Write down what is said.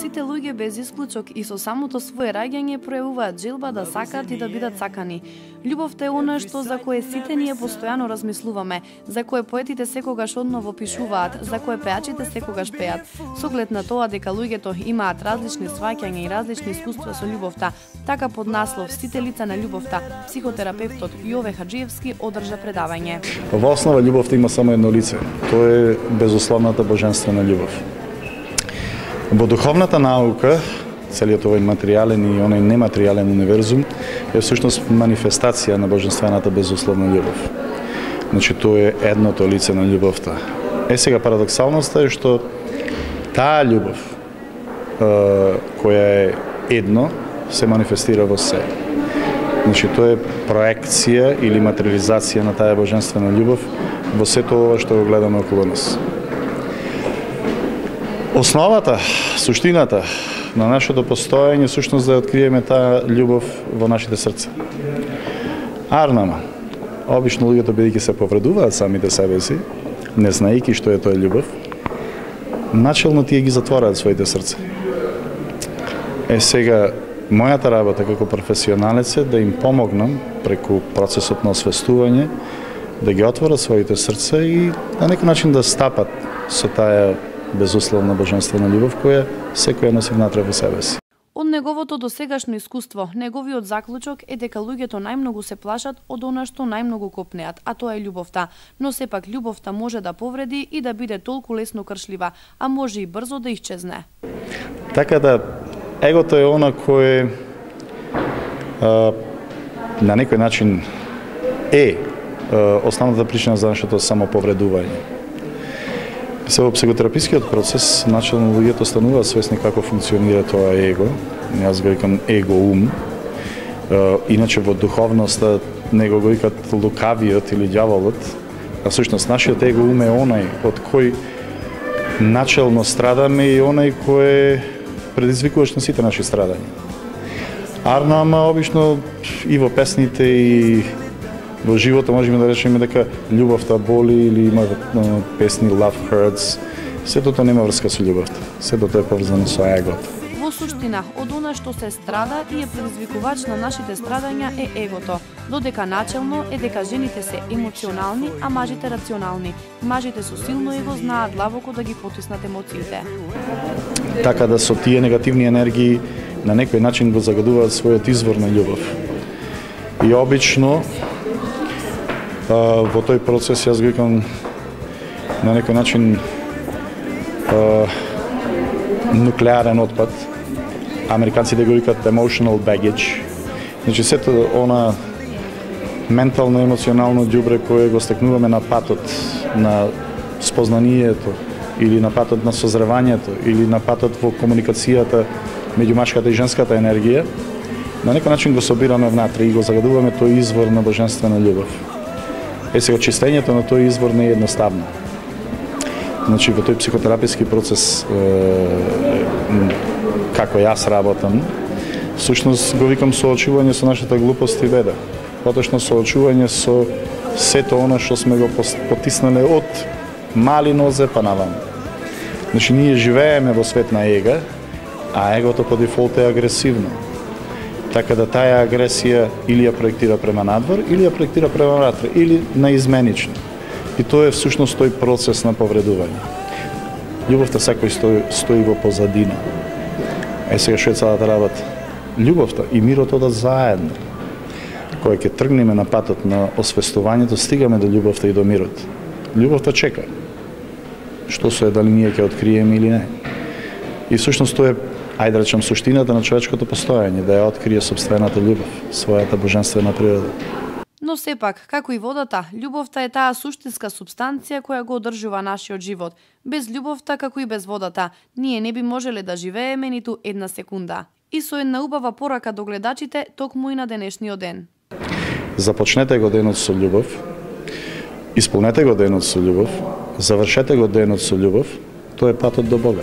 Сите луѓе без исклучок и со самото свое раѓање пројавуваат желба да сакаат и да бидат сакани. Љубовта е она што за кое сите ние постојано размислуваме, за кое поетите секогаш одново пишуваат, за кое пеачите секогаш пеат. Со оглед на тоа дека луѓето имаат различни сваќања и различни искуства со љубовта, така под наслов Сите лица на љубовта, психотерапевтот Јове Хаџиевски одржа предавање. Во основа љубовта има само едно лице. Тоа е безусловната божествена љубов. Во духовната наука, целиот овој материјален и оној нематеријален универзум е всушност манифестација на божествената безусловна љубов. Значи, тоа е едното лице на љубовта. Сега парадоксалноста е што таа љубов, која е едно, се манифестира во се. Значи, тоа е проекција или материализација на таа божествена љубов во сето ова што го гледаме околу нас. Основата, суштината на нашето постоење всушност да откриеме таа љубов во нашите срца. Арнама, обично луѓето бидејќи се повредуваат самите себе си, не знаејќи што е тоа љубов, начелно тие ги затвораат своите срца. Сега, мојата работа како професионалец е да им помогнам преку процесот на освестување, да ги отворат своите срца и на некој начин да стапат со таа безусловна божествена љубов која секој носи внатре во себе си. Од неговото досегашно искуство, неговиот заклучок е дека луѓето најмногу се плашат од она што најмногу копнеат, а тоа е љубовта. Но сепак љубовта може да повреди и да биде толку лесно кршлива, а може и брзо да исчезне. Така да, егото е она кое на некој начин е основната причина за нашето самоповредување. Во психотерапискиот процес, начелно луѓето стануваат свесни како функционира тоа его, јас го викам его-ум, иначе во духовноста него го викат лукавиот или ѓаволот, а всушност нашиот его-ум е онај од кој начелно страдаме и онај кој предизвикуваш на сите наши страдања. Арнама обично и во песните и во животот можеме да речеме дека љубовта боли или има песни Love Hurts. Сето тоа нема врска со љубовта. Сето тоа е поврзано со егото. Во суштина, од она што се страда и е предизвикувач на нашите страдања е егото, додека начелно е дека жените се емоционални, а мажите рационални. Мажите со силно его знаат длабоко да ги потиснат емоциите. Така да со тие негативни енергии на некој начин го загадуваат својот извор на љубов. И обично во тој процес јас го викам на некој начин нуклеарен отпад. Американците го викаат emotional baggage. Значи сето она ментално емоционално ѓубре кое го стекнуваме на патот на спознанието или на патот на созревањето или на патот во комуникацијата меѓу машката и женската енергија, на некој начин го собираме внатре и го загадуваме тој извор на божествена љубов. Сега очистењето на тој извор не е едноставно. Значи во тој психотераписки процес како јас работам, всушност го викам соочување со нашата глупост и беда. Поточно соочување со сето она што сме го потиснале од мали нозе па наваму. Значи ние живееме во свет на ега, а егото по дефолт е агресивно. Така да таа агресија или ја проектира према надвор, или ја проектира према внатре, или наизменично. И тоа е всушност тој процес на повредување. Љубовта секој стои во позадина. Сега што е целата работа? Љубовта и мирот одат заедно. Кога ќе тргнеме на патот на освестувањето, стигаме до љубовта и до мирот. Љубовта чека. Што се дали ние ќе откриеме или не. И всушност тоа е, ајде да речем, суштината на човечкото постоење, да ја открие собствената љубов, својата божествена природа. Но сепак, како и водата, љубовта е таа суштинска супстанција која го одржува нашиот живот. Без љубовта, како и без водата, ние не би можеле да живееме ниту една секунда. И со една убава порака до гледачите, токму и на денешниот ден. Започнете го денот со љубов, исполнете го денот со љубов, завршете го денот со љубов, тоа е патот до Бога.